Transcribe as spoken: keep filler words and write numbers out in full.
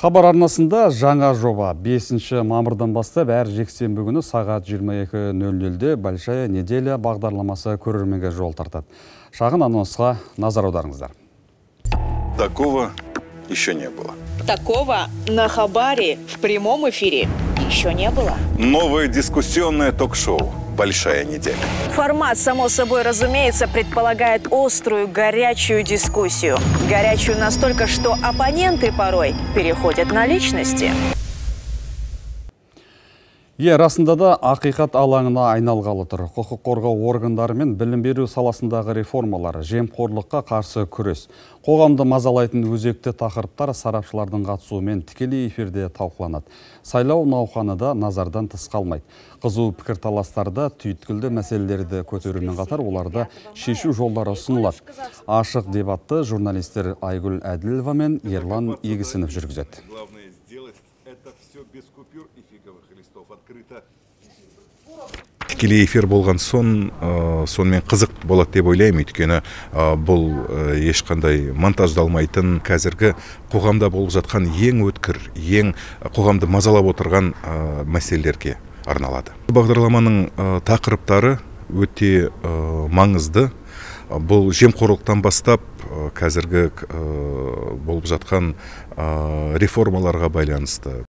Хабар арнасында жаңа жоба бесінші мамырдан бастап әр жексенбі күні сағат жиырма екі нөл нөлде Большая неделя бағдарламасы көрерменге жол тартады. Шағын анонсқа назар аударыңыздар. Такого еще не было. Такого на Хабаре в прямом эфире еще не было. Новое дискуссионное ток-шоу «Большая неделя». Формат, само собой разумеется, предполагает острую, горячую дискуссию. Горячую настолько, что оппоненты порой переходят на личности. Е, расында да ақиқат алаңына айналғалы тұр. Құқық қорғау органдары мен білім беру саласындағы реформалар, жемқорлыққа қарсы күрес, қоғамды мазалайтын өзекті тақырыптар сарапшылардың қатысуымен тікелей эфирде талқыланады. Сайлау науқаны да назардан тыс қалмайды. Қызу пікірталастарда түйткілді мәселелерді көтерумен қатар оларды шешу жолдары ұсынылады. Ашық дебатты журналистер Айгүл Әділова мен Ерлан Егісінов жүргізеді. Тікелей эфир болған сон, сонымен қызық болады деп ойлаймын, өйткені бұл ешқандай монтаждалмайтын, қазіргі қоғамда болып жатқан ең өткір, ең қоғамды мазалап отырған мәселелерге арналады. Бағдарламаның тақырыптары өте маңызды. Бұл жемқорлықтан бастап қазіргі болып жатқан реформаларға байланысты.